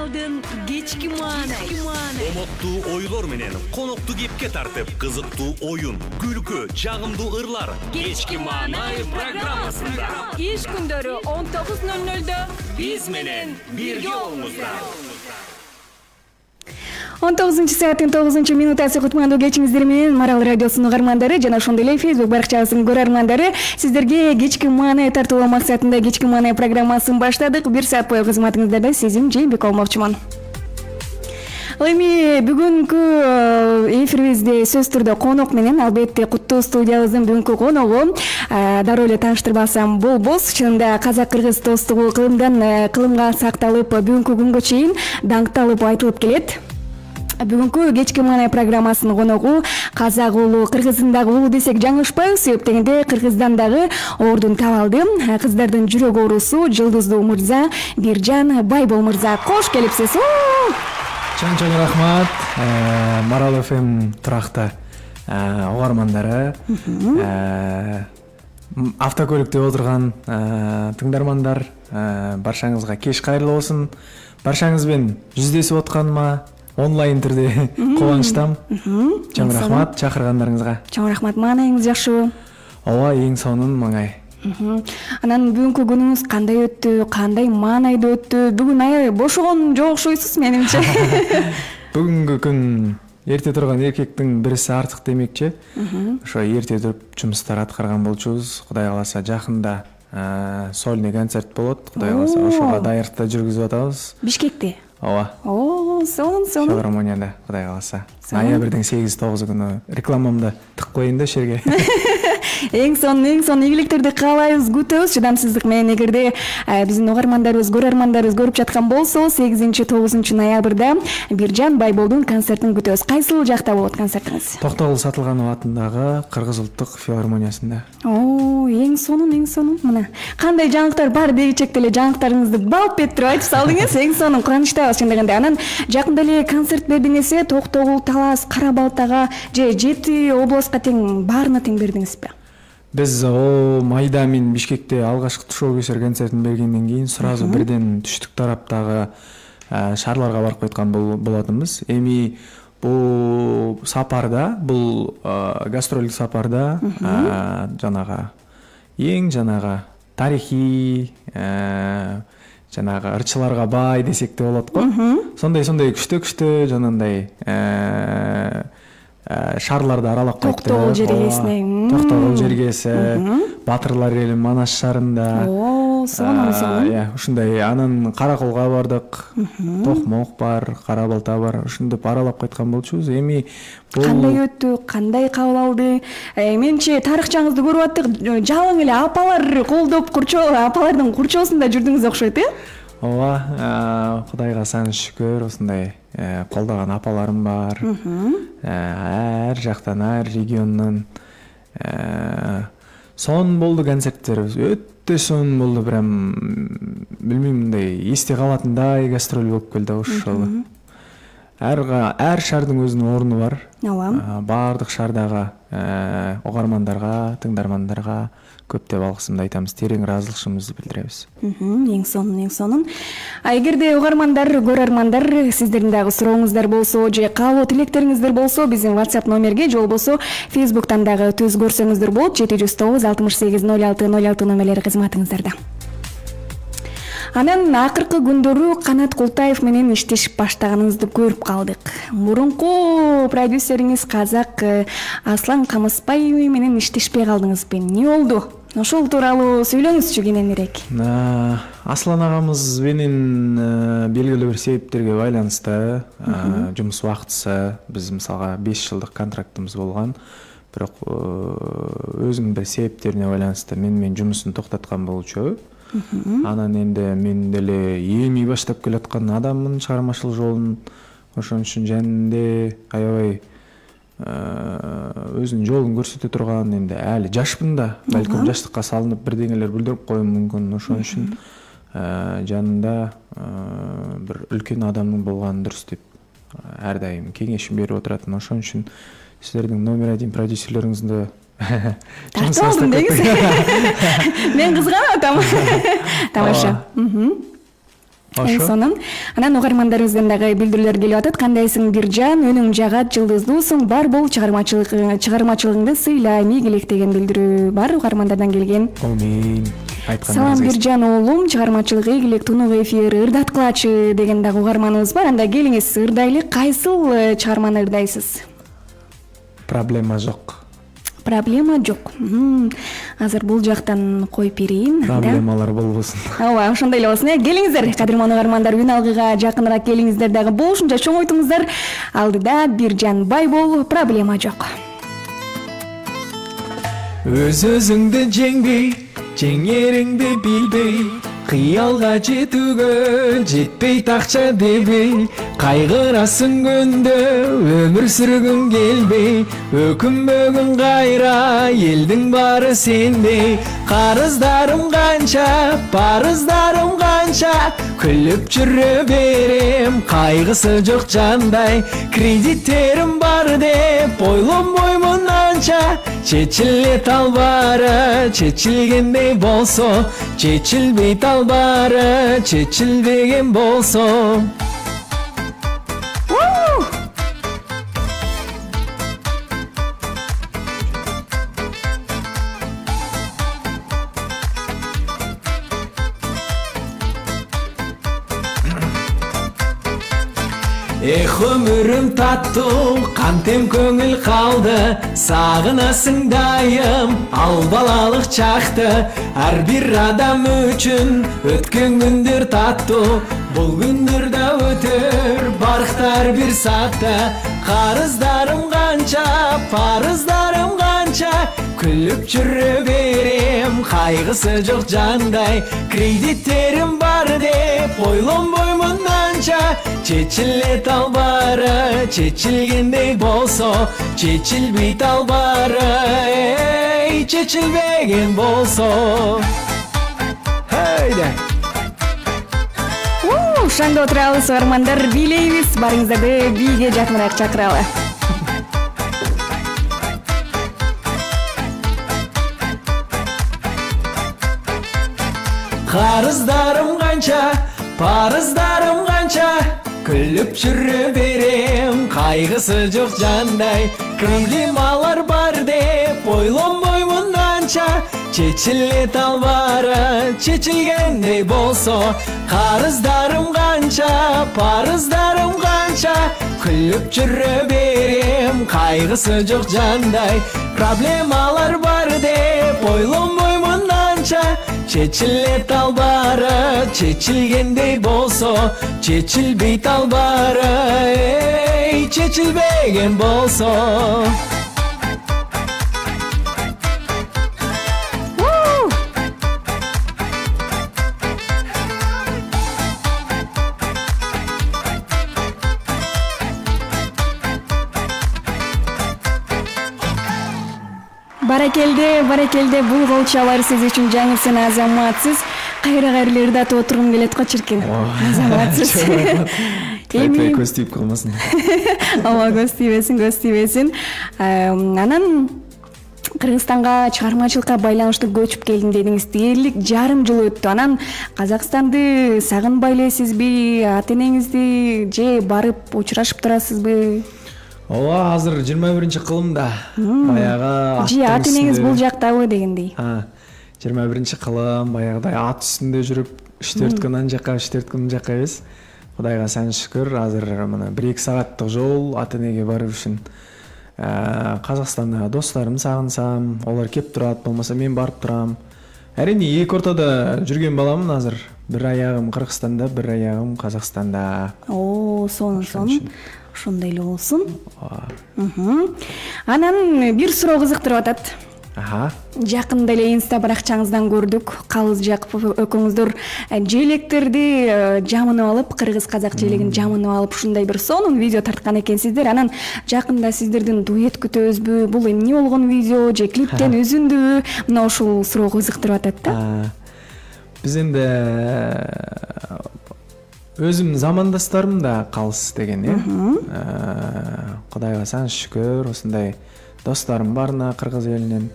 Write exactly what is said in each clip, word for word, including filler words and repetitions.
Каналдын кечки маанай. Комоктуу ойлор менен конокту кепке тартып, кызыктуу оюн, күлкү, жагымдуу ырлар. Кечки маанай программасында. Иш күндөрү он тогуз ноль нольдө биз менен бирге болуңуздар. он тогузунчу сааттын тогузунчу минутасы кутмандуу кечиңиздер менен Марал радиосунун угармандары жана ошондой эле Facebook баракчасынын көрөрмандары, сиздерге кечки маанай тартуулоо максатында кечки маанай программасын баштадык. Бир саат бою кызматыңыздарда Сезим Жээнбек болмокчумун. Эми бүгүнкү эфирибизде сөз түрдө конок менен, албетте Куттуу студиябыздын бүгүнкү коногу дароо эле тааныштырбасам болбос. Чынында казак-кыргыз достугу кылымдан кылымга сакталып, бүгүнкү күнгө чейин даңкталып айтылып келет. Бүгүнкү кечки маанай программасынын коногу казак уулу, кыргыздын дагы уулу десек жаңылышпайбыз. Себеп дегенде кыргыздан дагы ордун таап алды. Кыздардын жүрөк оорусу Жылдыздуу мырза Биржан Байбол мырза. Кош келипсиз. Чоң-чоң рахмат. Марал эф эм туракта угармандары, автокөлүктө отурган тыңдармандар, баршаңызга кеч кайрылуу болсун. Баршаңызбен жүздөшүп атканыма онлайн түрдө кубанычтам. Чоң рахмат чакыргандарыңызга. Чоң рахмат. Маанайыңыз жакшыбы? Ооба, эң сонун маңай. Анан бүгүнкү күнүңүз кандай өттү, кандай маанайда өттү? Бүгүн аябай бошогон жок окшойсуз менимче. Бүгүнкү күн эрте турган эркектин бириси артык демекчи. Ошо эрте туруп жумуштар аткарган болчубуз. Кудай кааласа жакында сольный концерт болот. Кудай кааласа ошого даярдыкта жүргүзүп атабыз. Бишкекте? Ооба. О, сонун, сонун. Филармонияда, Кудай кааласа. Ноябрдын сегиз тогузу күнү рекламамды тык коеюн да шерге. Эң сонун, эң сонун ийгиликтерди каалайбыз, күтөбүз чыдамсыздык менен. Эгерде биздин угармандарыбыз, көрөрмандарыбыз көрүп жаткан болсо, сегизинчи тогузунчу ноябрда Биржан Байболдун концертин күтөбүз. Кайсыл жакта болот концертиңиз? Токтогул Сатылганов атындагы Кыргыз улуттук филармониясында. О, эң сонун, эң сонун. Мына кандай жаңылыктар бар дегичекте эле жаңылыктарыңызды балп этирип айтып салдыңыз. Эң сонун, кубанычтабыз чын дегенде. Анан жакында эле концерт бердиңиз, Токтогул, Талас, Кара Балтага же жети областка тең баарына тең бердиңизби? Биз о майда мен Бишкекте алгачкы тушоо көсөр концертин бергенден кийин сразу бирден түштүк тараптагы шаарларга барып кайткан болотунбуз. Эми бул сапарда, бул гастролдук сапарда жанагы эң жанагы тарихий жанагы ырчыларга бай десек де болот го. Сондай-сондай күчтө-күчтө жанагындай шаарларды аралап кайттык. Токтогул жергесине. Токтогул жергеси, Батырлар эли Манас шаарында. О, сонун, сонун. Э, ушундай анан Караколго бардык. Токмок бар, Кара Балта бар. Ушундап аралап кайткан болчубуз. Эми бул кандай өттү, кандай кабыл алды? Менчи тарыхчаңызды көрүп аттык. Жалаң эле апалар колдоп курчоо, апалардын курчоосунда жүрдүңүз окшойт, э? Ооба, Кудайга саны шүкүр, ушундай колдогон апаларым бар. Ар жактан, ар региондон сонун болду концерттерибиз. Өтө сонун болду, прям билбейм, мындай эсте калатындай гастроль болуп келди ошол. Ар ар шаардын өзүнүн орну бар. Ооба. Баардык шаардагы угармандарга, тыңдармандарга көптөп алгысымды айтабыз, терең ыраазычылыгыбызды билдиребиз. Эң сонун, эң сонун. А эгерде угармандар, көрөрмандар, сиздердин дагы сурооңуздар болсо же каалоо тилектериңиздер болсо, биздин WhatsApp номерге же болбосо Facebook'тан дагы түз көрсөңүздөр болот. жети жүз тогуз алтымыш сегиз ноль алты ноль алты номерлери кызматыңыздарда. Анан акыркы күндөрү Канат Култаев менен иштешип баштаганыңызды көрүп калдык. Мурунку продюсериңиз казак Аслан Камыспай менен иштешпей калдыңызбы? Эмне болду? Ошол тууралуу сүйлөңүзчү кененирээк. Аслан агамыз менен белгилүү бир себептерге байланыштуу жумуш убактысы, биз мисалга беш жылдык контрактыбыз болгон, бирок өзүнүн бир себептерине байланыштуу мен менен жумушун токтоткон болчу. Анан энди мен деле эми баштап келаткан адаммын чыгармачылык жолун. Ошон үчүн жанында аябай өзүнүн жолун көрсөтө турган, энди али жашпын да, балким жаштыкка салынып бирдеңелер билдирип коюм мүмкүн. Ошон үчүн жанында бир үлкөн адамдын болгону дурус деп ар дайым кеңешин берип отуратын. Ошон үчүн силердин номер один продюсерлериңизди тартып алдым деңиз. Мен кызганып атам. Тамаша. Эң сонун. Анан угармандарыбыздан дагы билдирүүлөр келип атат. Кандайсың Биржан? Өнүң жагат, жылдыздуусуң, бар бол чыгармачылык чыгармачылыгыңды сыйла, мийгилек деген билдирүү бар угармандардан келген. Амин. Салам Биржан уулум, чыгармачылык ийгилек, тунук эфир ырдаткылачы деген дагы угарманыбыз бар. Анда келиңиз, ырдайлы. Кайсыл чыгарманы ырдайсыз? Проблема жок. Проблема жок. Азыр бул жактан коюп берейин. Проблемалар болбосун. Ооба, ошондой эле болсун. Келиңиздер, кадырман угармандар, үн алгыга жакыныраак келиңиздер дагы. Болушунча чоң ойтуңуздар. Алдыда Биржан Байбол, проблема жок. Өз өзүңдү жеңбей, жеңериңди билбей, кыялга жетүүгө жетпей такча дебей, кайгырасың күндө өмүр сүргүң келбей, өкүнбөгүн кайра элдин баары сендей. Карыздарым канча, парыздарым канча, күлүп жүрө берем кайгысы жок жандай. Кредиттерим бар деп ойлонбоймун анча, чечиле талбары чечилгендей болсо, чечилбей талбары чечилбеген болсо. Эх, өмүрүм таттуу, кантем көңүл калды, сагынасың дайым ал балалык чакты. Ар бир адам үчүн өткөн күндөр таттуу, бул күндөр да өтөр барктар бир саатта. Карыздарым канча, парыздарым канча, күлүп жүрө берем кайгысы жок жандай. Кредиттерим бар деп ойлонбоймун анча, чечиле талбары чечилгендей болсо, чечилбей талбары эй чечилбеген болсо. Хейде. Уу, шаңда отурабыз угармандар, бийлейбиз, барыңыздарды бийге жакыныраак чакыралы. Карыздарым канча, парыздарым канча, күлүп жүрө берем кайгысы жок жандай. Проблемалар бар деп ойлонбоймун анча, чечиле талбары чечилгендей болсо. Карыздарым канча, парыздарым канча, күлүп жүрө берем кайгысы жок жандай. Проблемалар бар деп ойлонбоймун анча, чечиле талбары чечилгендей болсо, чечилбей талбары эй чечилбеген болсо. Баракелде, баракелде, бул гол чабар сиз үчүн жаңырсын, азаматсыз. Кайра кайра ырдатып отургум келет го чиркин. Азаматсыз. Эми көз тийип калмасын. Ооба, көз тийбесин, көз тийбесин. Анан Кыргызстанга чыгармачылыкка байланыштуу көчүп келдим дедиңиз. Дээрлик жарым жыл өттү. Анан Казакстанды сагынбай элесизби? Ата энеңизди же барып учурашып турасызбы? Ооба, азыр жыйырма биринчи кылымда. Баягы же ата энеңиз бул жактабы дегендей. жыйырма биринчи кылым, баягыдай ат үстүндө жүрүп, иштөрткөн ан жакка, иштөрткөн мын жакка эмес. Кудайга сан шүкүр, азыр мына бир эки сааттык жол ата энеге барып үчүн. Казакстанда досторум сагынсам, олар кеп турат, болмаса мен барып турам. Әрине эки ортодо жүргөн баламын азыр. Бир аягым Кыргызстанда, бир аягым Казакстанда. О, сонун, сонун. Ошондой эле болсун. Анан бир суроо кызыктырып атат. Аха. Жакында эле инста баракчаңыздан көрдүк. Калыс Жакупов экөөңүздөр желектерди жамынып алып, кыргыз казак желегин жамынып алып, ушундай бир сонун видео тарткан экенсиздер. Анан жакында сиздердин дуэт күтөбүзбү? Бул эмне болгон видео же клиптен үзүндүбү? Мына ушул суроо кызыктырып атат да. Биз энди өзүмдүн замандастарым да калыс деген, э. Кудайга сан шүкүр, ушундай досторум барына кыргыз элинен.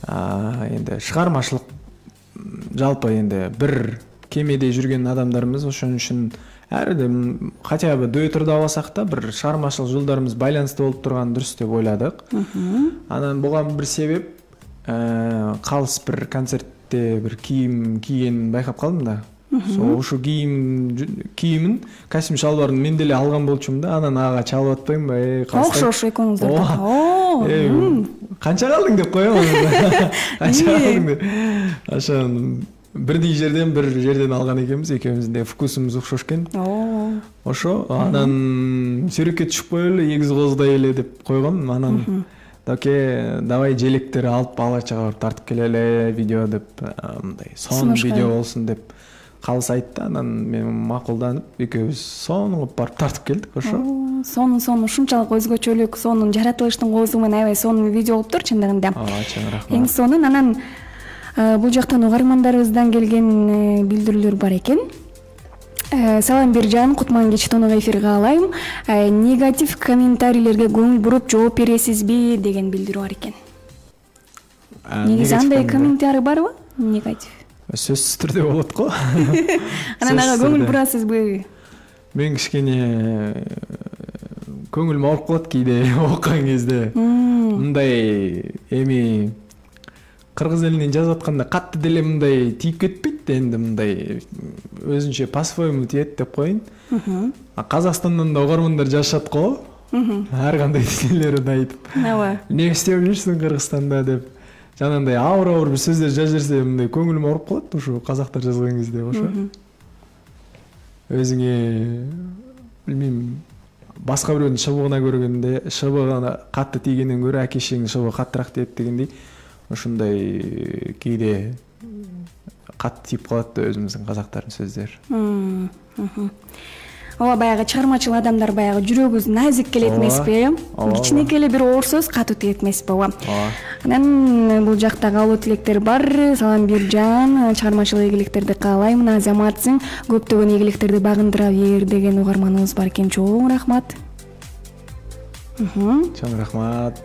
Энди чыгармачылык жалпы энди бир кемеде жүрген адамдарыбыз, ошон үчүн ар бир хотя бы дуэттерде албасак да бир чыгармачылык жолдорубуз байланыстуу болуп турганы дурус деп ойладык. Анан буга бир себеп калыс бир концертте бир кийим кийгенин байкап калдым да. Ошо кийим кийимин, костюм шалбарын мен деле алган болчумун да. Анан ага чалып атпаймынбы? Э, окшош экөөңүздөр. О, канча калдың деп коем. Канча калдың деп. Ошон бирдей жерден бир жерден алган экенбиз, экөөбүздүн да вкусубуз окшош экен. Ошо анан сүрөккө түшүп коелу, эгиз коздай эле деп койгон. Анан Доке, давай желектери алып балачага барып тартып келеле, видео деп, мындай сон видео болсун деп калыс айтты. Анан мен макулданып, экөөбүз сонун кылып барып тартып келдик, ошо. Сонун сонун ушунчалык өзгөчөлүк, сонун жаратылыштын коозу менен аябай сонун видео болуптур чындыгында. Ооба, чоң рахмат. Эң сонун. Анан бул жактан угармандарыбыздан келген билдирүүлөр бар экен. Салам Биржан, кутман кеч тонуга эфирге алайм. Негатив комментарийлерге көңүл буруп жооп бересизби деген билдирүү бар экен. Негизи андай комментарий барбы? Негатив. Сөзсүз түрдө болот го. Анан ага көңүл бурасызбы? Мен кичкене көңүлүм ооруп калат кийде окуган кезде. Мындай эми кыргыз элинен жазып атканда катты деле мындай тийип кетпейт да, энди мындай өзүнчө по-своему тиет деп коеюн. А Казакстандан да угармандар жазышат го. Ар кандай нелерин айтып. Ооба. Не иштеп жүрсүң Кыргызстанда деп. Жанагындай ауыр-ауыр бир сөздөр жазып жүрсө мындай көңүлүм ооруп калат ушу казактар жазган кезде, ошо. Өзүңө билбейм, башка бирөөнүн шыбыгына көргөндө, шыбыгына катты тийгенден көрө акешиңдин шыбыгы каттыраак тиет дегендей. Ошондой кийде катты тийип калат да өзүбүздүн казактардын сөздөрү. Ооба, баягы чыгармачыл адамдар баягы жүрөгүбүз назик келет эмеспи? Кичинекей эле бир оор сөз катуу тиет эмеспи? Ооба. Анан бул жакта каалоо тилектер бар. Салам Биржан, чыгармачылык ийгиликтерди каалайм. Азаматсың, көптөгөн ийгиликтерди багындыра бер деген угарманыбыз бар экен. Чоң рахмат. Чоң рахмат.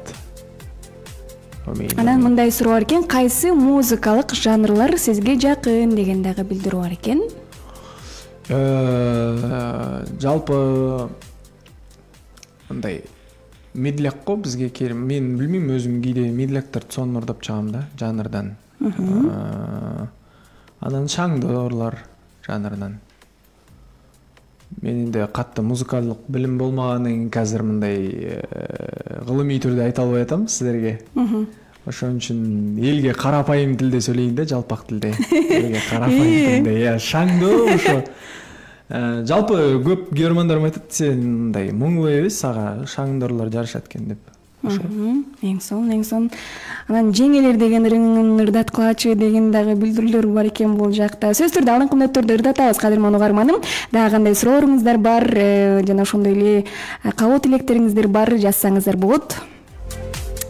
Анан мындай суроо бар экен, кайсы музыкалык жанрлар сизге жакын деген дагы билдирүү бар экен. Жалпы мындай медляк го бизге керим. Мен билбейм, өзүм кийде медляктарды сонун ырдап чыгам да, жанрдан. Анан шаңдоорлар жанрынан. Менде катты музыкалдык билим болмаганын азыр мындай кылымый түрдө айта албай атам сиздерге. Ошон үчүн элге карапайым тилде сөйлөйүн да, жалпак тилде. Элге карапайым тилде, я шаңдоо ошо. Жалпы көп көрөрмандарым айтат, сен мындай муңлуу эмес, ага шаңдоорлор жарышат экен деп. Ошо. Эң сонун, эң сонун. Анан жеңелер деген ырыңын ырдаткылачы деген дагы билдирүүлөр бар экен бул жакта. Сөзсүз түрдө алынкы мүнөттөрдү ырдатабыз, кадырман угарманым. Дагы кандай сурооңуздар бар, жана ошондой эле каалоо тилектериңиздер бар, жазсаңыздар болот.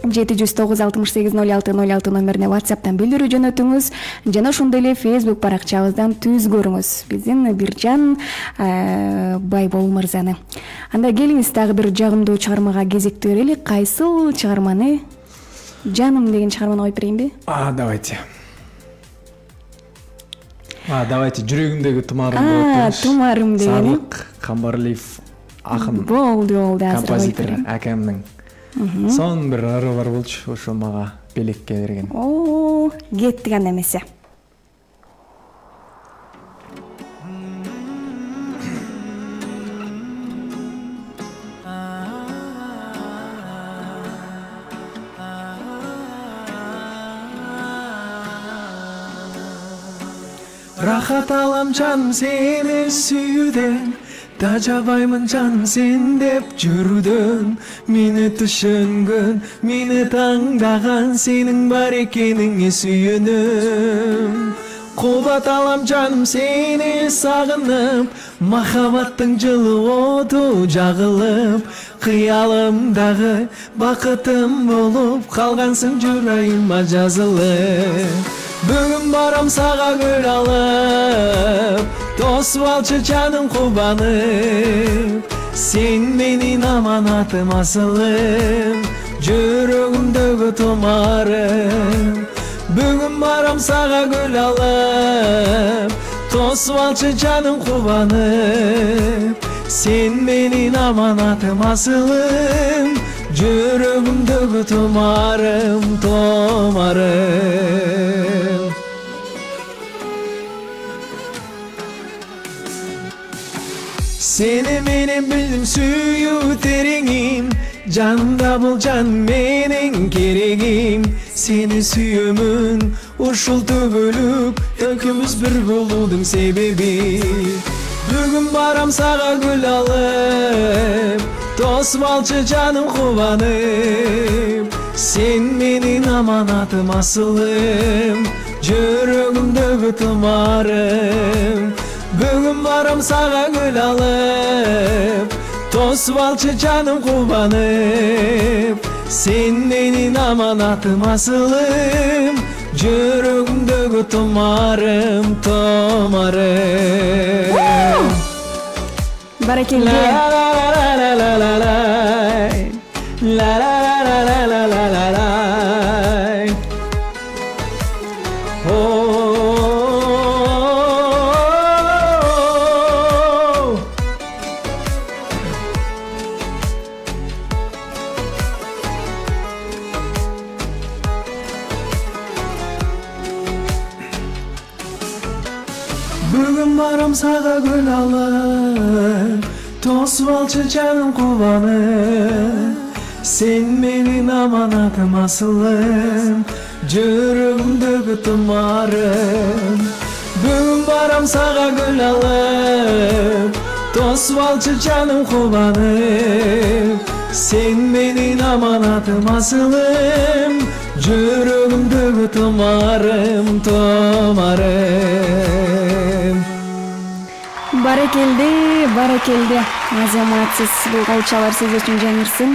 жети жүз тогуз алтымыш сегиз ноль алты ноль алты номерине WhatsApp'тан билдирүү жөнөтүңүз, жана ошондой эле Facebook баракчабыздан түз көрүңүз биздин Биржан Байбол мырзаны. Анда келиңиз дагы бир жагымдуу чыгармага кезектүү берели. Кайсыл чыгарманы? Жаным деген чыгарманы коюп берейинби? А, давайте. А, давайте жүрөгүмдөгү тумарым болот. А, тумарым деген. Сарлык Камбарлиев акын. Болду, болду, азыр композитор акамдын. Сон бир ыры бар болчу, ошо мага белекке берген. О, кеттик анда эмесе. Рахат алам жаным сени сүйүүдөн, тажабаймын жаным сен деп жүрүүдөн. Мени түшөнгөн, мени таңдаган сенин бар экениңе сүйөнөм. Кубат алам жаным сени сагынып, махаббаттың жылы оту жагылып, кыялымдагы бакытым болуп калгансың жүрөгүмө жазылып. Бүгүн барам сага гүл алып, тосуп алчы жаным кубанып. Сен менин аманатым асылым, жүрөгүмдөгү тумарым. Бүгүн барам сага гүл алып, тосуп алчы жаным кубанып, сен менин аманатым асылым, жүрөгүмдөгү тумарым, томарым. Seni менен билдим сүйүү тереңим, жанымда бул жан менин керегим. Сени сүйөмүн ушул түгүлүк, экөөбүз бир болуудун себеби. Бүгүн барам сага гүл алып, тосуп алчы жаным кубанып, сен менин аманатым асылым, жүрөгүмдөгү тумарым. Бүгүн барам сага гүл алып, тосуп алчы жаным кубанып, сен менин аманатым асылым, жүрөгүмдөгү тумарым, томарым. Баракелде. Бүгүн барам сага гүл алып, тосуп алчы жаным кубанып, сен менин аманатым асылым, жүрөгүмдөгү тумарым. Бүгүн барам сага гүл алып, тосуп алчы жаным кубанып, сен менин аманатым асылым, жүрөгүмдөгү тумарым, томарым. Баракелде, баракелде. Азаматсыз, бул калчалар сиз үчүн жаңырсын.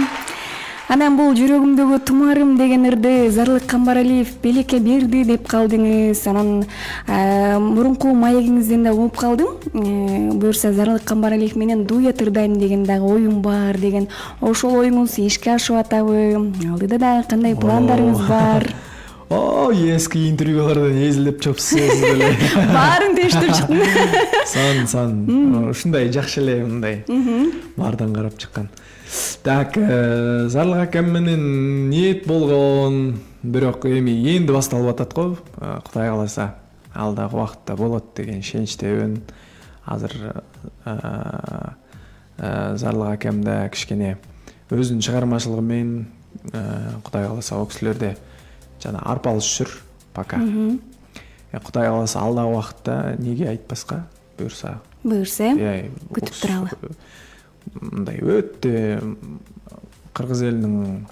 Анан бул жүрөгүмдөгү тумарым деген ырды Зарлык Камбаралиев белекке берди деп калдыңыз. Анан мурунку маегиңизден да угуп калдым. Буюрса Зарлык Камбаралиев менен дуэт ырдайм деген дагы оюм бар деген. Ошол оюңуз ишке ашып атабы? Алдыда дагы кандай пландарыңыз бар? О, эски интервьюлардан эзилеп чопсуз эле. Баарын тештирип чыктым. Сан, сан. Ушундай жакшы эле мындай. Баардан карап чыккан. Так, Зарлык акам менен ниет болгон, бирок эми энди башталып атат го. Кудай кааласа, алдагы убакытта болот деген ишеничтемин. Азыр Зарлык акам да кичкене өзүнүн чыгармачылыгы менен Кудай кааласа о кишилерде жана арпалышып жүр пока. Кудай кааласа алдагы убакытта неге айтпаска, буюрса. Буюрса, күтүп туралы. Мындай өтө кыргыз элинин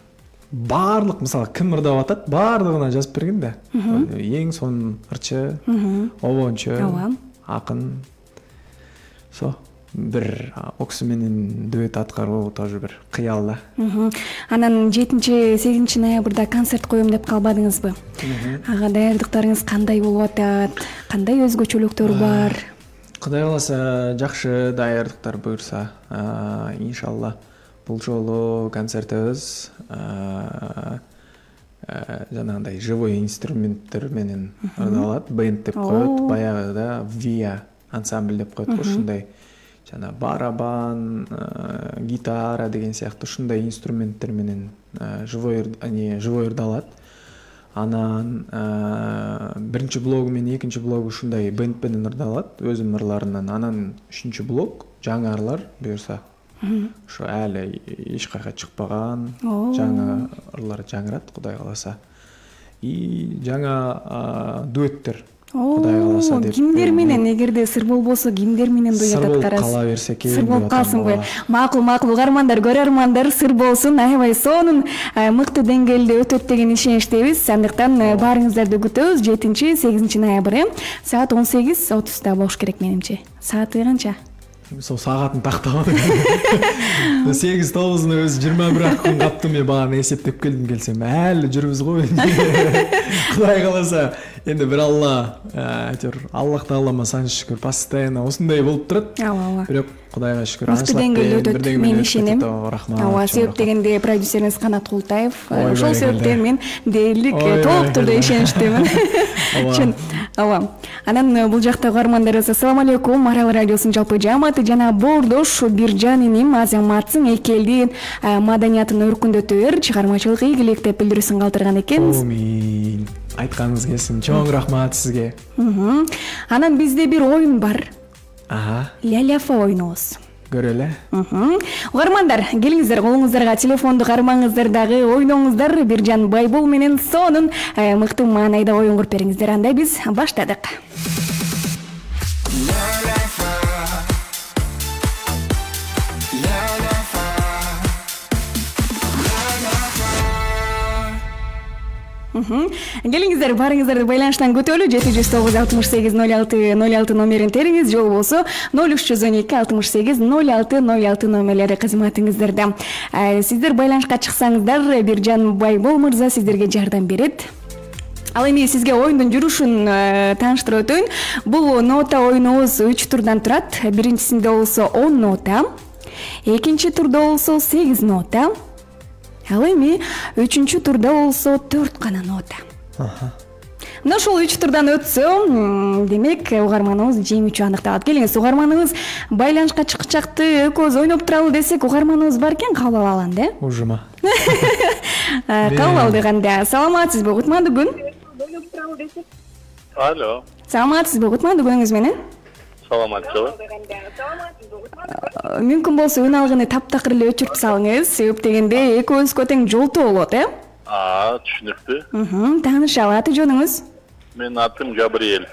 баардык, мисалы, ким ырдап атат, баардыгына жазып берген да. Эң сонун ырчы, обончу, акын. Со, бир оксу менен дуэт аткаруу тоже бир кыял да. Анан жетинчи сегизинчи ноябрда концерт коем деп калбадыңызбы? Ага даярдыктарыңыз кандай болуп атат? Кандай өзгөчөлүктөр бар? Кудай кааласа жакшы даярдыктар буюрса, иншалла бул жолу концертибиз жанагындай живой инструменттер менен ырдалат, бенд деп коет, баягыда Via ансамбль деп коет, ушундай жана барабан, гитара деген сыяктуу ушундай инструменттер менен живой не живой ырдалат. Анан биринчи блогу менен экинчи блогу ушундай бенд менен ырдалат, өзүнүн ырларынан. Анан үчүнчү блог жаңы ырлар буюрса. Ошо әле эч кайга чыкпаган жаңы ырлар жаңырат, Кудай кааласа. И жаңа дуэттер. Кудай кааласа деп. Кимдер менен, эгерде сыр болбосо, кимдер менен дуэт аткарасыз? Сыр болуп кала берсе керек. Сыр болуп калсынбы? Макул, макул, угармандар, көрөрмандар, сыр болсун. Аябай сонун мыкты деңгээлде өтөт деген ишеничтебиз. Андыктан баарыңыздарды күтөбүз. жетинчи сегизинчи ноябрь саат он сегиз отузда болуш керек менимче. Сааты канча? Сол саатын тактабадым. сегиз тогузуна өзү жыйырма бир күн каптым, мен баганы эсептеп келдим, келсем әлі жүрбүз го. Кудай кааласа Энди бир Алла, айтор Аллах таалама санчы шүкүр постоянно ушундай болуп турат. Ооба, ооба. Бирок Кудайга шүкүр. Мыкты деңгээлде өтөт, мен ишенем. Рахмат. Ооба, себеп дегенде продюсериңиз Канат Култаев. Ошол себептен мен дээрлик толук турду ишеничтемин. Чын. Ооба. Анан бул жакта угармандарыбыз ассаламу алейкум. Арал радиосунун жалпы жааматы жана Боордош Биржан иним Азаматсың эки элдин маданиятын өркүндөтөөр, чыгармачылык ийгилик деп билдирүүсүн калтырган экенбиз. Амин. Айтканыңыз келсин. Чоң рахмат сизге. Анан бизде бир оюн бар. Ага. Ляляфа ойнобуз. Көрөлү. Угармандар, келиңиздер, колуңуздарга телефонду кармаңыздар дагы, ойноңуздар. Биржан Байбол менен сонун мыкты маанайда оюн куруп бериңиздер. Анда биз баштадык. Келиңиздер, барыңыздарды байланыштан көтөлү. жети жүз тогуз алтымыш сегиз ноль алты ноль алты номерин териңиз, же болбосо ноль үч жүз он эки алтымыш сегиз ноль алты ноль алты номерлери кызматыңыздарда. Сиздер байланышка чыксаңыздар, Биржан Байбол мырза сиздерге жардам берет. Ал эми сизге оюндун жүрүшүн тааныштырып өтөйүн. Бул нота оюнубуз үч турдан турат. Биринчисинде болсо он нота, экинчи турда болсо сегиз нота, ал эми үчүнчү турда болсо төрт гана нота. Мына ошол үч турдан өтсө, демек угарманыбыз жеңүүчү аныкталат. Келиңиз, угарманыбыз байланышка чыкчакты, экөөбүз ойноп туралы десек, угарманыбыз бар экен, кабыл алалы да? Ужума. Кабыл алдык анда. Саламатсызбы, Кутман Дугун? Алло. Саламатсызбы, Кутман Дугунуңуз менен? Саламатчылы. Мүмкүн болсо үн алгыны таптакыр эле өчүрүп салыңыз. Себеп дегенде экөөбүзгө тең жолтоо болот, э? А, түшүнүктүү. Мм, таанышалы, аты жөнүңүз? Менин атым Габриэль.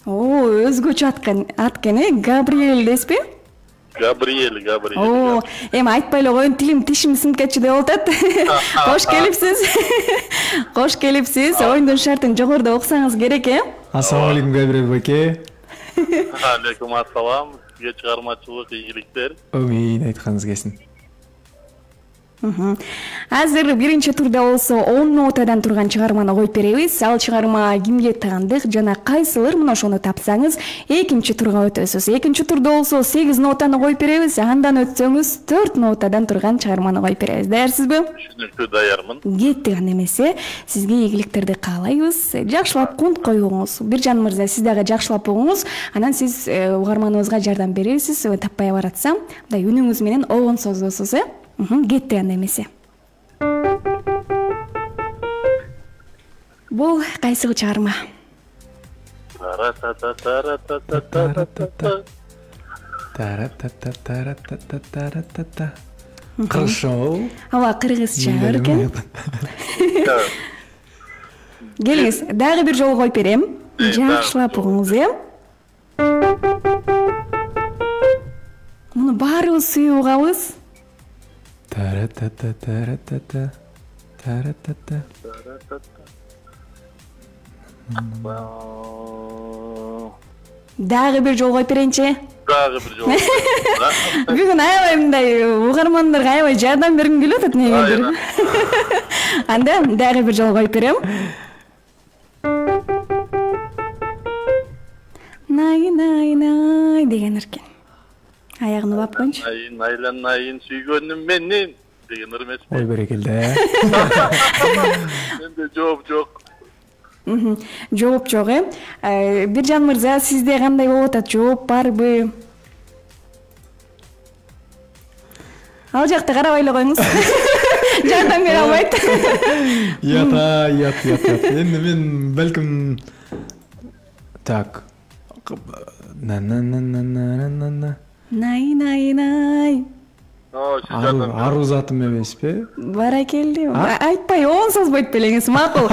О, өзгөчө аткан, аткен, э? Габриэль деспи? Габриэль, Габриэль. О, эми айтпай эле коеюн, тилим тишим сынып кетчү деп атат. Кош келипсиз. Кош келипсиз. Оюндун шартын жогоруда окусаңыз керек, э? Ассаламу алейкум, Габриэль байке. Алейкум ассалам. Сизге чыгармачылык ийгиликтер. Амин, айтканыңыз келсин. Азыр биринчи турда болсо он нотадан турган чыгарманы коюп беребиз. Ал чыгарма кимге таандык жана кайсылыр, мына ошону тапсаңыз экинчи турга өтөсүз. Экинчи турда болсо сегиз нотаны коюп беребиз. Андан өтсөңүз төрт нотадан турган чыгарманы коюп беребиз. Даярсызбы? Түшүнүктүү, даярмын. Кеттик анда эмесе. Сизге ийгиликтерди каалайбыз. Жакшылап кунт коюңуз. Биржан мырза, сиз дагы жакшылап угуңуз. Анан сиз угарманыбызга жардам бересиз. Таппай баратсам, мындай үнүңүз менен огон создосуз, э? Кетти анда эмесе. Бул кайсы чыгарма? Хорошо. Ооба, кыргызча экен. Келиңиз, дагы бир жолу коюп берем. Жакшылап угуңуз, э? Муну баарыбыз сүйүп угабыз. Та-ра-та-та-та-ра-та-та. Та-ра-та-та. Дагы бир жолу коюп берейинчи. Дагы бир жолу. Бүгүн аябай мындай угармандарга аябай жардам бергим келип атат негедир. Анда дагы бир жолу коюп берем. Най най най деген эркен. Аягын улап коюнчу. Айын айланайын сүйгөнүм менен деген ыр эмеспи? Ой берекелде. Менде жооп жок. Жооп жок, э? Биржан мырза, сизде кандай болуп атат? Жооп барбы? Ал жакта карабай эле коюңуз. Жардам бере албайт. Ята, ят, ят, ят. Энди мен балким так. На-на-на-на-на-на-на. Най най най. Ару затым эмеспи? Баракелди. Айтпай он созбойт белеңиз, макул.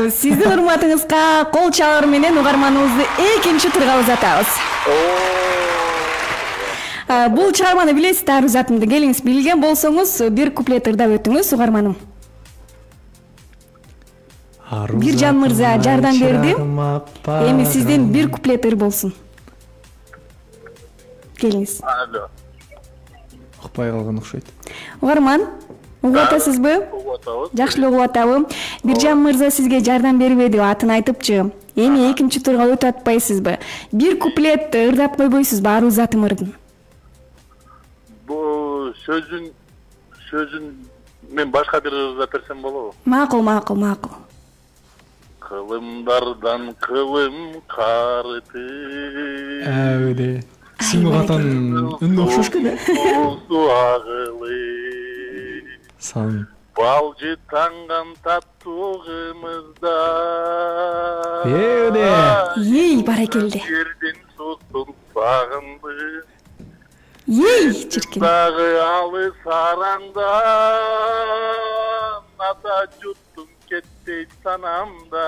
Сиздин урматыңызга кол чалыр менен угарманыбызды экинчи турга узатабыз. Бул чыгарманы билесиз, ару затымды. Келиңиз, билген болсоңуз бир куплет ырдап өтүңүз, угарманым. Биржан мырза жардам берди. Эми сизден бир куплет ыр болсун. Келиңиз. Алло. Укпай калган окшойт. Угарман, Угуп атасызбы? Угуп атабыз. Жакшы эле угуп атабы. Биржан мырза сизге жардам бербей деп атын айтыпчы. Эми экинчи турга өтүп атпайсызбы? Бир куплет ырдап койбойсузбу Ару Затымырдын? Бул сөзүн сөзүн мен башка бир ырдап берсем болобу? Макул, макул, макул. Кылымдардан кылым карыты. Әбеде. Симгатан үнү окшош экен. Суу агылы. Сан. Балжы таңган таттуу кымызда. Эбеде. Ей, баракелде. Жерден сусын сагынды. Ей, чиркин. Дагы алыс араңда. Ата жуттум кетпейт санамда.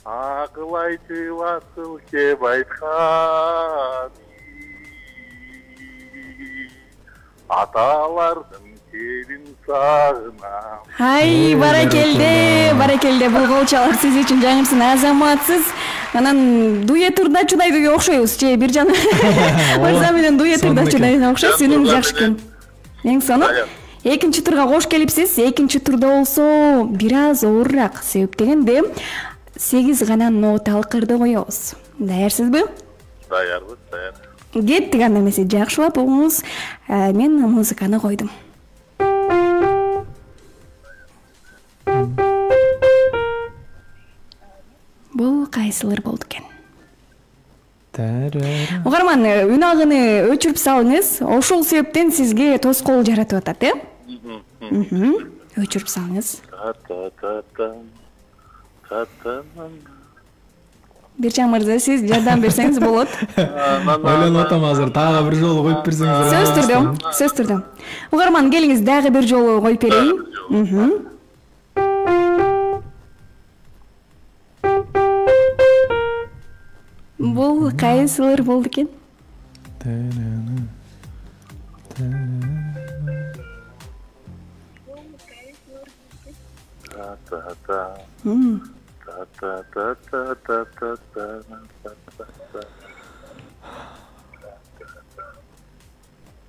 Акыл айтып асыл кеп айткан. Аталардын келин сагынам. Ай, баракелде, баракелде. Бул колчалар сиз үчүн жаңырсын, азаматсыз. Анан дуэт ырда чудайдыга окшойбуз, же Биржан мырза менен дуэт ырда чудайдыга окшойбуз. Үнүңүз жакшы экен. Эң сону экинчи турга кош келипсиз. Экинчи турда болсо бир аз оорураак, себеп дегенде сегиз гана ноталык ырды коебуз. Даярсызбы? Даярбыз, даяр. Кеттик анда эмесе, жакшылап угуңуз. Мен музыканы койдум. Бул кайсылыр болду экен? Угарман, үн агыны өчүрүп салыңыз. Ошол себептен сизге тоскоол жаратып атат, э? Өчүрүп салыңыз. Биржан мырза, сиз жардам берсеңиз болот. Ойлонуп атам азыр, дагы бир жолу коюп берсеңиз. Сөз түрдө, сөз түрдө. Угарман, келиңиз, дагы бир жолу коюп берейин. Бул кайсылыр болду экен?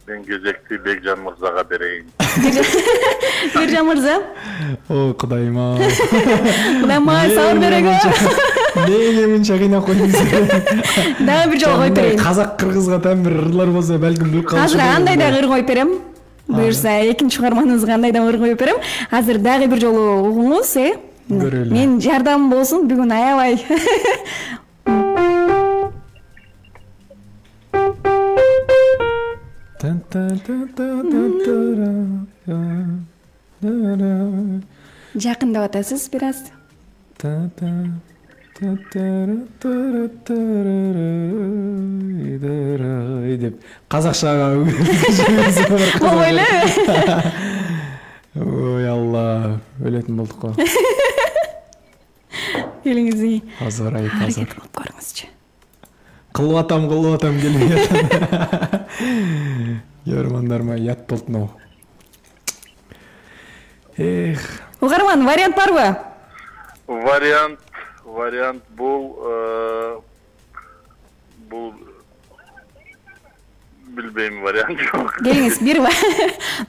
Мен кезекти Бекжан мырзага берейин. Биржан мырза. О, Кудайым-ай. Кудайым-ай, сабыр берегиз. Неге мынча кыйнап койдуңуз? Дагы бир жолу коюп берейин. Казак кыргызга тең бир ырлар болсо балким билип калышы. Азыр андай дагы ыр коюп берем. Буюрса, экинчи угарманыбызга андай дагы ыр коюп берем. Азыр дагы бир жолу угуңуз, э? Көрөлү. Мен жардам болсун, бүгүн аябай. Жакындап атасыз бир аз. деп казакчага Болбойлу. Ой, Алла, өлөтүн болдук го. Келиңиз. Азыр айып азыр. Аракет кылып көрүңүзчү. Кылып атам, кылып атам келип. Көрмөндөр ма, ят болтуну. Эх. Угарман, вариант барбы? Вариант, вариант бул бул билбейм, вариант жок. Келиңиз, бир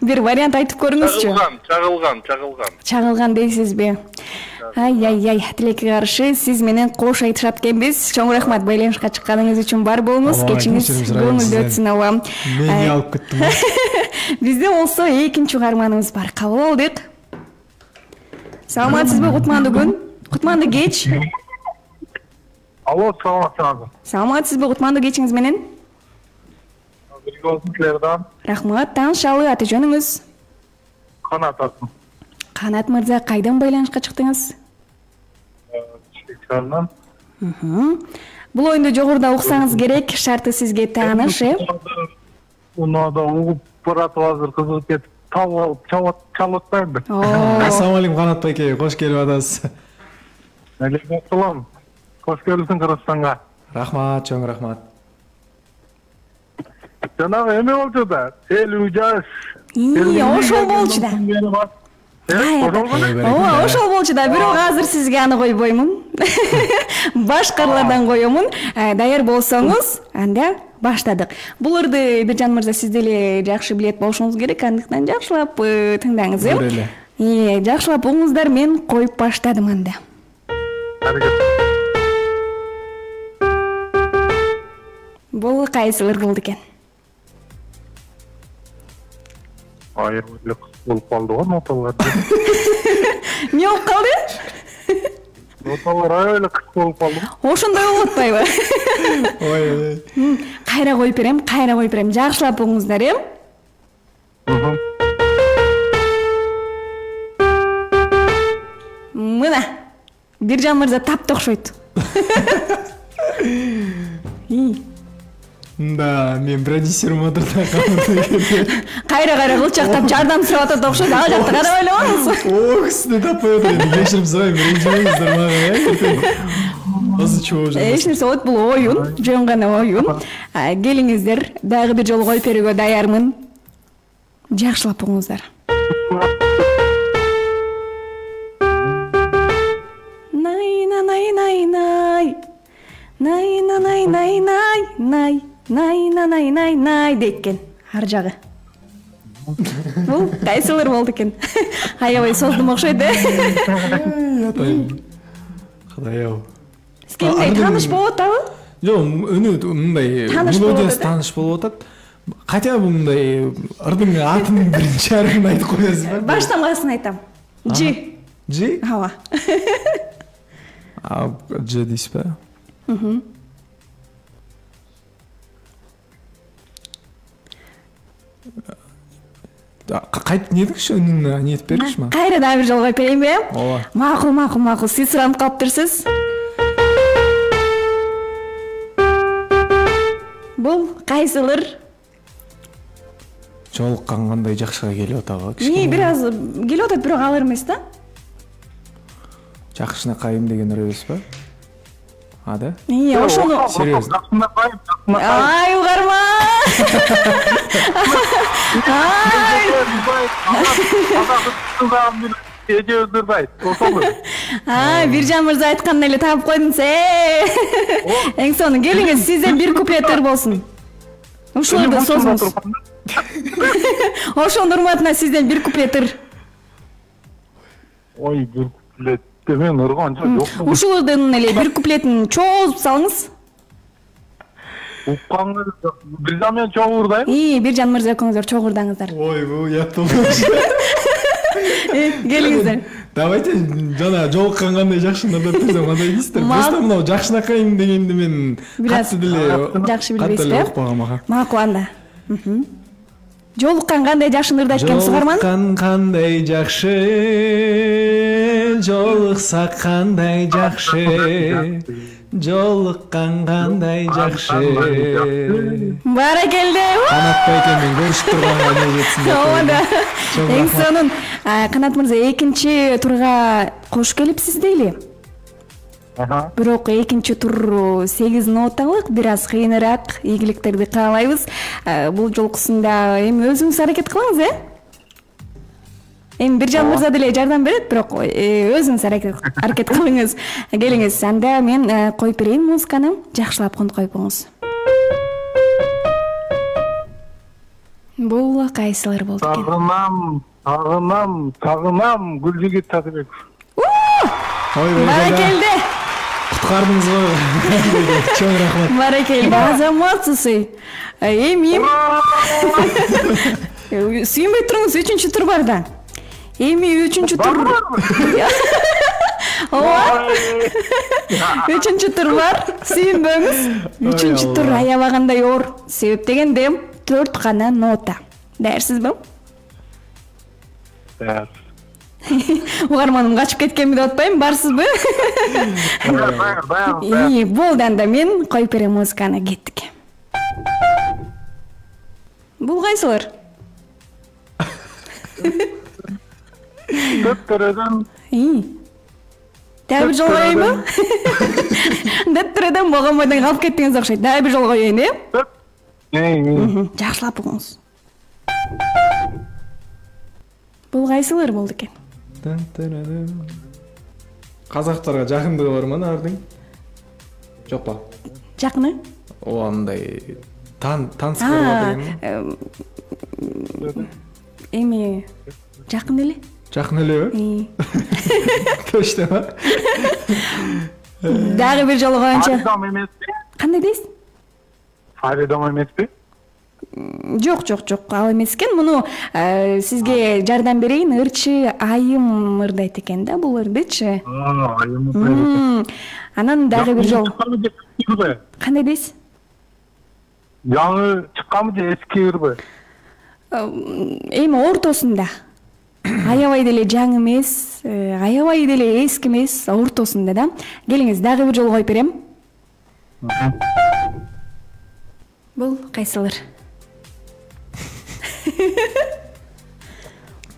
бир вариант айтып көрүңүзчү. Чагылган, чагылган, чагылган. Чагылган дейсизби? Ай-ай-ай, тилекке каршы сиз менен кош айтышат экенбиз. Чоң рахмат байланышка чыкканыңыз үчүн, бар болуңуз. Кечиңиз көңүлдүү өтсүн, ооба. Мени алып кеттим. Бизде болсо экинчи угарманыбыз бар. Кабыл алдык. Саламатсызбы, кутмандуу күн? Кутмандуу кеч. Алло, саламатсызбы? Саламатсызбы, кутмандуу кечиңиз менен? Бирге болсун силерден. Рахмат, таанышалы, аты жөнүңүз? Канат атым. Канат мырза, кайдан байланышка чыктыңыз? Чечкандан. Бул оюнду жогоруда уксаңыз керек, шарты сизге тааныш, э? Унада угуп баратып азыр кызыгып кетип, чалып атпаймынбы? Ассалам алейкум, Канат байке, кош келип атасыз. Алейкум ассалам. Кош келипсиң Кыргызстанга. Рахмат, чоң рахмат. Жанагы эме болчу да, элүү жаш. Ии, ошол болчу да. Ооба, ошол болчу да. Бирок азыр сизге аны койбоймун. Башкалардан коёмун. Даяр болсоңуз, анда баштадык. Бул ырды Биржан мырза сиз деле жакшы билет болушуңуз керек, андыктан жакшылап тыңдаңыз э. Көрөлү. Э, жакшылап угуңуздар, мен коюп баштадым анда. Бул кайсы ыр кылды экен? Айыр эле болуп калды го ноталар. Эмне болуп калды? Ноталар аябай эле кыш болуп калды. Ошондой болуп атпайбы? Ой ой. Кайра коюп берем, кайра коюп берем. Жакшылап угуңуздар э. Мына Биржан мырза тапты окшойт. Да, мен продюсерим отурда калды. Кайра кайра кылчактап жардам сурап атат окшойт. Ал жакта карабай эле коңуз. О, кісіні таппай отыр енді. Кешірім сұрайм, ренжімеңіздер мага, э? Азы чоо жүрмөсүн. Эч нерсе болбойт, бул оюн, жөн гана оюн. Келиңиздер, дагы бир жолу коюп берүүгө даярмын. Жакшылап угуңуздар. Найна най най най. Найна най най най най. Найна най най най дейт экен. Ар жагы. Бул кайсылыр болду экен? Аябай создум окшойт э. Атайын. Кудай-ау. Сизге мындай тааныш болуп атабы? Жок, үнү мындай мелодиясы тааныш болуп атат. Хотя бы мындай ырдын атын биринчи арбын айтып коесузбу? Баштамасын айтам. Ж. Ж? Ооба. А Ж дейсизби? Мм. Кайтып не дегиш, үнүн не этип бергиш ма? Кайра дагы бир жолу коюп берейинби? Ооба. Макул, макул, макул. Сиз суранып калыптырсыз. Бул кайсылыр? Жолуккан кандай жакшыга келип атабы? Ии, бир аз келип атат, бирок алыр эмес да. Жакшына кайым деген ыр эмеспи? А да? Ии, ошону Серьезно? Ай, угарма. Ай. Ай, Биржан мырза айткан эле таап койдуңуз. Э. Эң сонун келиңиз, сизден бир куплет ыр болсун. Ушуларды созуңуз. Ошонун урматына сизден бир куплет ыр. Ой, бир куплет. Мен ырган жок. Ушулардын эле бир куплетин чоозуп салыңыз. Уккаңыз Биржан менен чогуу урдайм. Ии, Биржан мырза экөөңүздөр чогурдаңыздар. Ой, бул ят болмош. Келиңиздер. Давайте жана жолуккан кандай жакшыны ырдап берсем кандай дейсиздер? Просто мына жакшынакайым дегенди мен катты деле жакшы билбейсизби? катты укпагам ага. Макул анда. Жолуккан кандай жакшы ырдайт экен сугарман? Жолуккан кандай жакшы, жолуксак кандай жакшы, жолуккан кандай жакшы. Баракелде. Канатбай экен мен көрүшүп турганга не жетсин деп. Ооба да. Эң сонун. Канат мырза экинчи турга кош келипсиз дейли. Ага. Бирок экинчи тур сегиз ноталык, бир аз кыйыныраак, ийгиликтерди каалайбыз. Бул жолкусунда эми өзүңүз аракет кылыңыз, э? Эми Биржан мырза деле жардам берет, бирок өзүңүз аракет кылыңыз. Келиңиз, анда мен коюп берейин музыканы, жакшылап коюп коюңуз. Бул кайсылар болду экен? Сагынам, сагынам, сагынам Гүлжигит Татыбеков. Ой, Баракелде. Куткардыңыз го. Чоң рахмат. Баракелде, азаматсыз. Эми сүйүнбөй туруңуз, үчүнчү тур бар да. Эми үчүнчү тур. Ооба. Үчүнчү тур бар. Сүйүнбөңүз. Үчүнчү тур аябагандай оор. Себеп дегенде төрт гана нота. Даярсызбы? Даяр. Угарманым качып кеткенби деп атпайм, барсызбы? Даяр, даяр, даяр. Ии, болду анда мен коюп берем музыканы, кеттик. Бул кайсылар? Дөттөрөдөн. Ии. Дагы бир жолу коеюнбу? Дөттөрөдөн богонбойдон калып кеттиңиз окшойт. Дагы бир жолу коеюн, э? Жакшылап угуңуз. Бул кайсылар болду экен? Казактарга жакындыгы бар ма ардың? Жок ба? Жакыны? О, андай Тан таныс көрүп эм, эми жакын эле. Жакын элеби? Точно. Дагы бир жолу коеюнчу. Фаридом эмеспи? Кандай дейсиз? Фаридом эмеспи? Жок, жок, жок, ал эмес экен. Муну э, сизге жардам берейин. Ырчы айым ырдайт экен да, бул ырдычы. Аа, айым. М, Анан дагы бир жолу. Кандай дейсиз? Жаңы чыкканбы же эски ырбы? Эми ортосунда. Аябай деле жаңы эмес, э, аябай деле эски эмес, ортосунда да. Келиңиз, дагы бир жолу коюп берем. Бул кайсылыр?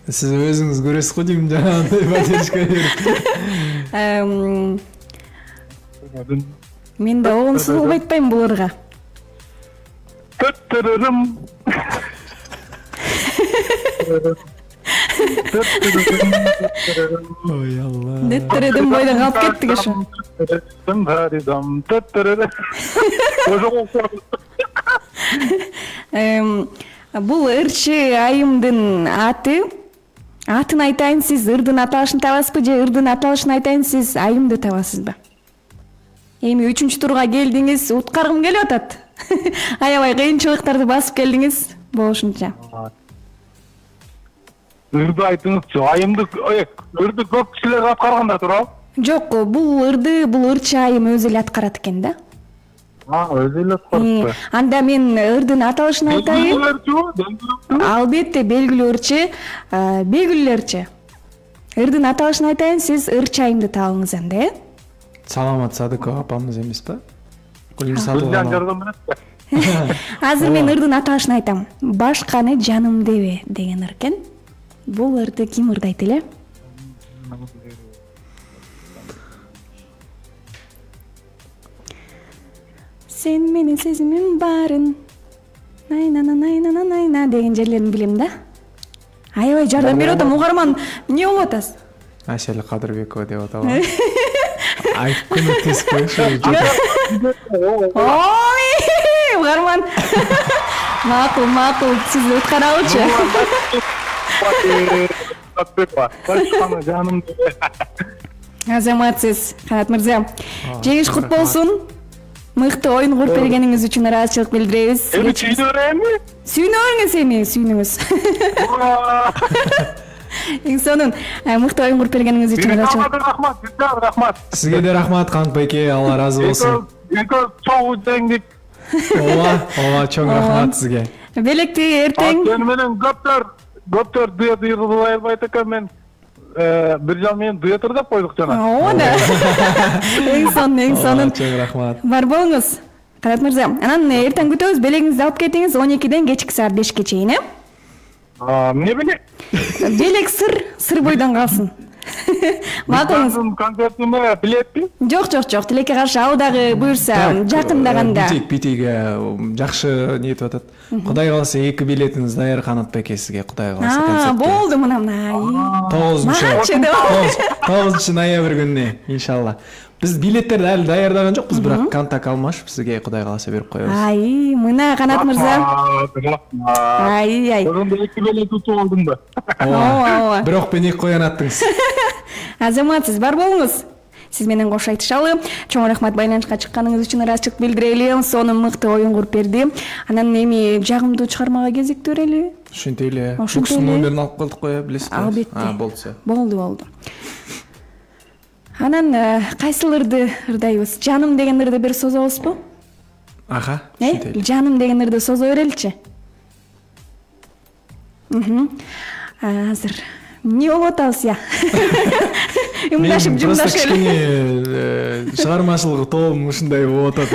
Сиз өзүңүз көрөсүз го дейм жанагындай поддержка берип. Эм, Мен да оңсуз болбой атпайм бул ырга. Төттөрөрүм. Ой алла. Деттиредим бойдон калып кеттик ошо. Фаридом, төттөрөрүм. Ошо Эм, Бул ырчы айымдын аты. Атын айтайын, сиз ырдын аталышын табасызбы же ырдын аталышын айтайын, сиз айымды табасызбы? Эми үчүнчү турга келдиңиз, уткаргым келип атат. Аябай кыйынчылыктарды басып келдиңиз, болушунча. ырды айтыңызчы. Айымды ырды көп кишилер аткарганда турабы? Жок, бул ырды, бул ырчы айым өзү эле аткарат экен да. А, өзү эле аткарат. Анда мен ырдын аталышын айтайын. Белгилүү. Албетте белгилүү ырчы, белгилүүлөрчү. Ырдын аталышын айтайын, сиз ырчы айымды табыңыз анда, э? Саламат Садыкова апамыз эмеспи? Гүлнур Гүлжан Садыкова. жардам берет. Азыр мен ырдын аталышын айтам. Башканы жаным дебе деген ыр экен. Бул ырды ким ырдайт эле? Сен менен сезимим барын. Найнана найнана найна деген жерлерин билем да. Аябай жардам берип атам, угарман. Эмне болуп атасыз? Айшали Кадырбекова деп атабы. Айтып көмөктесип коюңушу. Ой, угарман. Макул, макул, сиз уткаралычы. Башканы жаным. Азаматсыз, Канат мырза. Жеңиш кут болсун. Мыкты оюн куруп бергениңиз үчүн ыраазычылык билдиребиз. Эми чүйдөрөмү? Сүйүнүңүз эми, сүйүнүңүз. Эң сонун мыкты оюн куруп бергениңиз үчүн ыраазычылык. Рахмат, рахмат, рахмат. Сизге да рахмат Канат байке, Алла разы болсун. Экөө чоң жеңдик. Ооба, ооба, чоң рахмат сизге. Белекти эртең. Сени менен көптөр, көптөр дуэт ырдабай албайт экен, мен бир жал менен дуэт ырдап койдук жана. Ооба да. Эң сонун, эң сонун. Чоң рахмат. Бар болуңуз. Канат мырза, анан эртең күтөбүз, белегиңизди алып кетиңиз он экиден кечки саат бешке чейин, э? Эмне белек? Белек сыр, сыр бойдон калсын. Макулуңуз. Концертиме билетпи? Жок, жок, жок. Тилекке каршы ал дагы буюрса, жакындаганда. Битик, битиге жакшы нетип атат. Кудай кааласа эки билетиңиз даяр Канат байке сизге, Кудай кааласа концертке. А, болду мына мына. тогузунчу тогузунчу ноябрь күнүнө иншалла. Биз билеттерди али даярдаган жокпуз, бирок контакт алмашып сизге Кудай кааласа берип коебуз. Ай, мына Канат мырза. Ай, ай. Ошондо эки билет утуп алдым да. Ооба, ооба. Бирок мен эки коян аттыңыз. Азаматсыз, бар болуңуз. Сиз менен кош айтышалы. Чоң рахмат байланышка чыкканыңыз үчүн ыраазычылык билдирели. Сонун мыкты оюн куруп берди. Анан эми жагымдуу чыгармага кезиктүү берели. Ушинтип эле. Ошентип эле. Букстун номерин алып калдык го, билесизби? Албетте. А, болду. Болду, болду. Анан кайсыл ырды ырдайбыз? Жаным деген ырды бир созобузбу? Ага, Э, ушинтип эле. жаным деген ырды созо береличи. Мхм. Азыр эмне болуп атабыз я? Юмдашып, жумдашып эле. Чыгармачылык тобум ушундай болуп атат.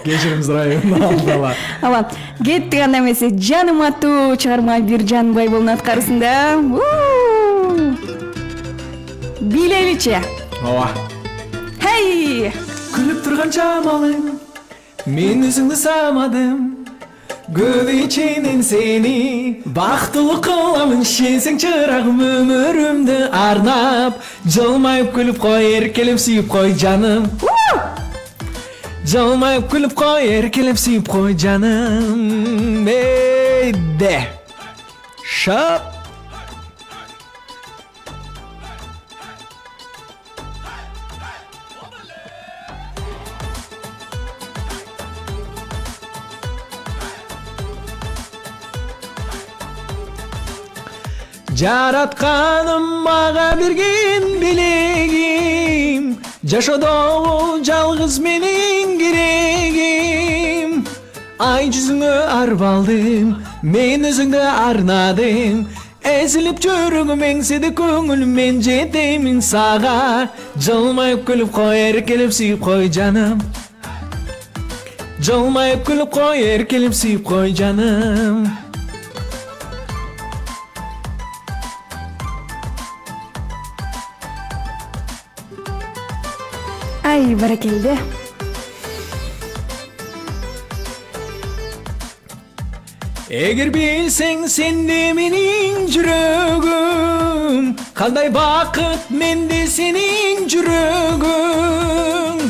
Кечирим сурайм алдала. Ала, кеттик анда эмесе. Жаным аттуу чыгарма бир жан Байболдун аткарысында. Билеличи. Ооба. Хей! Күлүп турган чамалың, мен өзүңдү самадым. Көз ичинен сени бактылуу кыламын, сенсең чырагым өмүрүмдү арнап. Жылмайып күлүп кой, эркелеп сүйүп кой жаным. Жылмайып күлүп кой, эркелеп сүйүп кой жаным. Эйде. Шап. Жаратканым мага берген билегим, жашоодогу жалгыз менин керегим. Ай жүзүңө арбалдым, мен өзүңдү арнадым. Эзилип жүрөгүм эңседе көңүлүм, мен жетемин сага. Жылмайып күлүп кой, эркелеп сүйүп кой жаным. Жылмайып күлүп кой, эркелеп сүйүп кой жаным. Ай, баракелде. Эгер билсең сенде менин жүрөгүм, кандай бакыт менде сенин жүрөгүң.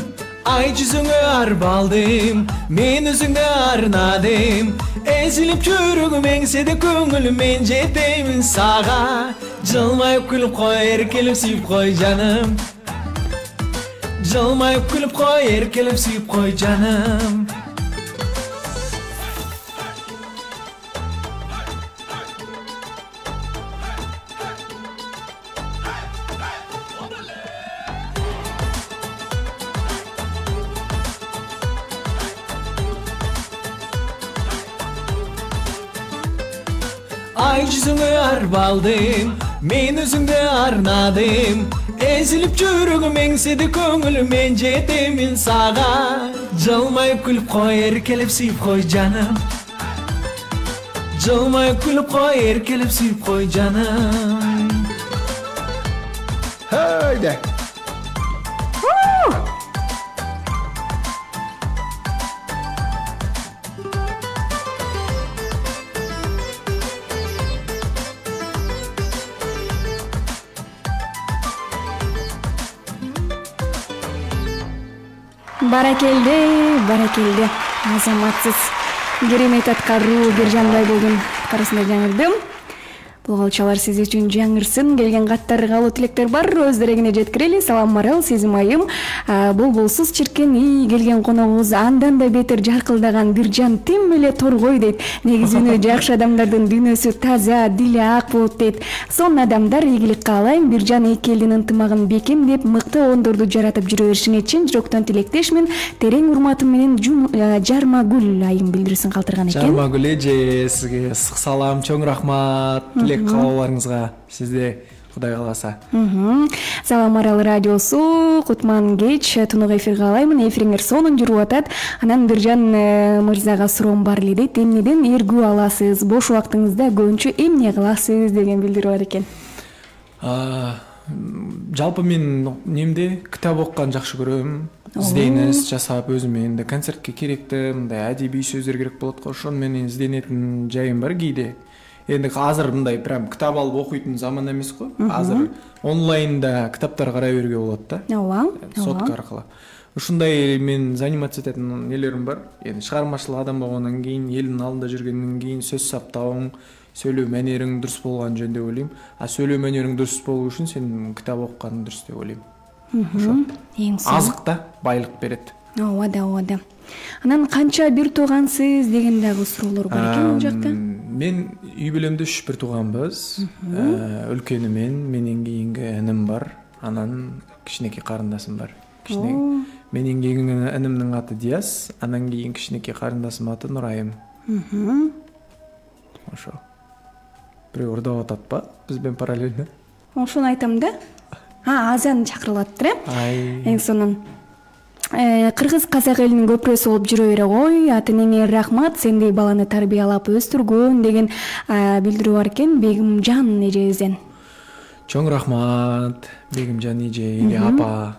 Ай жүзүңө арбалдым, мен өзүңдү арнадым. Эзилип жүрөгүм эңседе көңүлүм, мен жетемин сага. Жылмайып күлүп кой, эркелеп сүйүп кой жаным. Жылмайып күлүп кой, эркелеп сүйүп кой жаным. Ай жүзүңө арбалдым, мен өзүңдү арнадым. Эзилип жүрөгүм эңседе көңүлүм, мен жетемин сага. Жылмайып күлүп кой, эркелеп сүйүп кой жаным. Жылмайып күлүп кой, эркелеп сүйүп кой жаным. Хайде. Баракелде, баракелде. Азаматсыз керемет аткаруу Биржандай болдун. Аткарысында жаңырдым. Бул калчалар сиз үчүн жаңырсын. Келген каттар, каалоо тилектер бар. Өз дерегине жеткирели. Салам Марал, сезим айым. Болболсуз чиркен ий келген коногубуз андан да бетер жаркылдаган Биржан тим эле торгой дейт. Негизинен жакшы адамдардын дүйнөсү таза, дили ак болот дейт. Сонун адамдар, ийгилик каалайм. Биржан эки элдин ынтымагын бекем деп мыкты ондорду жаратып жүрө беришине чын жүрөктөн тилектешмин. Терең урматым менен Жармагүл айым билдирүүсүн калтырган экен. Жармагүл эже, сизге ысык салам, чоң рахмат. Каалоолоруңузга, сизде Кудай кааласа. Салам Арал радиосу, Кутман кеч, тунук эфир каалаймын. Эфириңер сонун жүрүп атат. Анан Биржан мырзага суроом бар эле дейт. Эмнеден эргүү аласыз? Бош убактыңызда көбүнчө эмне кыласыз деген билдирүү бар экен. Жалпы мен немде китап окуган жакшы көрөм. Изденис жасап өзүмө энди концертке керекти, мындай адебий сөздөр керек болот го. Ошону менен изденетин жайым бар кийде. Энди азыр мындай прям китап алып окуйтун заман эмес го. Азыр онлайнда китаптар карай берүүгө болот да. Ооба. Сотка аркылуу. Ушундай мен заниматься этетін нелерим бар. Эми чыгармачыл адам болгондон кийин, элдин алдында жүргөндөн кийин сөз саптауың, сөйлөө манериң дурус болгон жөн деп ойлойм. А сөйлөө манериң дурус болуу үчүн сен китап окуганың дурус деп ойлойм. Ошо. Эң сонун. Азык да байлык берет. Ооба да, ооба да. Анан канча бир туугансыз деген дагы суроолор бар экен бул жакта. Мен үй бүлөмдө үч бир тууганбыз. Өлкөнү мен, менен кийинки иним бар. Анан кичинекей карындасым бар. Кичине менен кийинки инимдин аты Диас, анан кийин кичинекей карындасымдын аты Нурайым. Ошо. Бирөө урдап ататпы? Биз менен параллельно. Ошону айтам да. А, азан чакырылаттыр, э? Эң сонун. Кыргыз казак элинин көпүрөсү болуп жүрө бере кой. Ата-энеңе рахмат, сендей баланы тарбиялап өстүргөн деген билдирүү бар экен Бегимжан эжебизден. Чоң рахмат, Бегимжан эже или апа.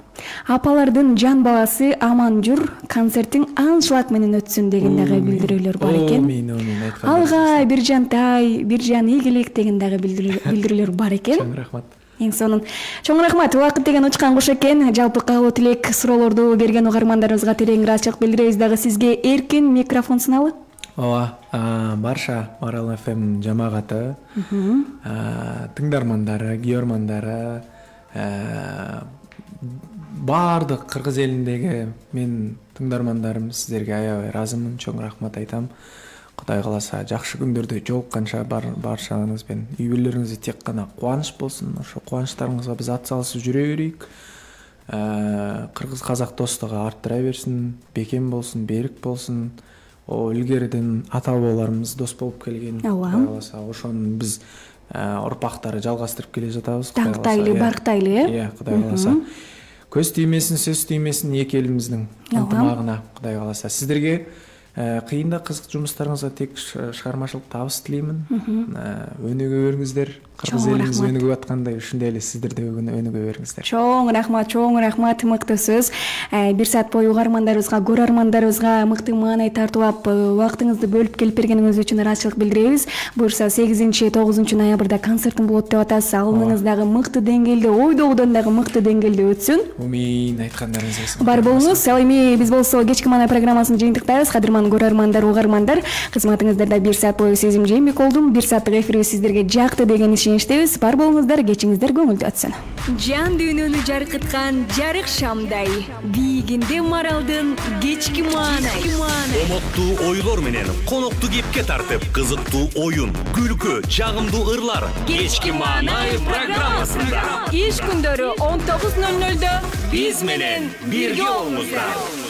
Апалардын жан баласы аман жүр, концертиң аншлаг менен өтсүн деген дагы билдирүүлөр бар экен. Алга Биржантай, Биржан ийгилик деген дагы билдирүүлөр бар экен. Чоң рахмат. Эң сонун. Чоң рахмат. Убакыт деген учкан куш экен. Жалпы каалоо тилек суроолорду берген угармандарыбызга терең ыраазычылык билдиребиз дагы сизге. Эркин микрофон сыналы. Ооба, барша Марал эф эм жамааты, тыңдармандары, күйөрмандары, баардык кыргыз элиндеги мен тыңдармандарым сиздерге аябай ыраазымын. Чоң рахмат айтам. Кудай кааласа жакшы күндөрдө жолукканча баршаңыз менен үй бүлөлөрүңүзгө тек гана кубаныч болсун. Ошо кубанычтарыңызга биз ат салышып жүрө берейик. Кыргыз казак достугу арттыра берсин, бекем болсун, берик болсун. О илгериден ата бабаларыбыз дос болуп келген. Кудай кааласа ошону биз урпактары жалгастырып келе жатабыз. Тактайлы, барктайлы, э? Иә, Кудай кааласа. Көз тиймесин, сөз тиймесин эки элибиздин ынтымагына, Кудай кааласа. Сиздерге кыйын да кызык жумуштарыңызга тек чыгармачылык табыс тилеймин. Өнүгө бериңиздер. Кыргыз элибиз өнүгүп аткандай, ушундай эле сиздер да өнүгө бериңиздер. Чоң рахмат, чоң рахмат, мыкты сөз. Бир саат бою угармандарыбызга, көрөрмандарыбызга мыкты маанай тартуулап, убактыңызды бөлүп келип бергениңиз үчүн ыраазычылык билдиребиз. Буюрса сегизинчи тогузунчу ноябрда концертим болот деп атасыз. Алымыңыз дагы мыкты деңгээлде, ойдогудон дагы мыкты деңгээлде өтсүн. Умин айткандарыңыз келсин. Бар болуңуз. Ал эми биз болсо кечки маанай программасын жыйынтыктайбыз. Кадырман көрөрмандар, угармандар, кызматыңыздарда бир саат бою Сезим Жээнбек болдум. бир сааттык эфирибиз сиздерге жакты деген ишеничтебиз. Бар болуңуздар, кечиңиздер көңүлдүү өтсүн. Жан дүйнөнү жаркыткан жарык шамдай, биигинде Маралдын кечки маанай. Комоктуу ойлор менен конокту кепке тартып, кызыктуу оюн, күлкү, жагымдуу ырлар. Кечки маанай программасында Иш күндөрү он тогуз ноль нолдо биз менен бирге болуңуздар.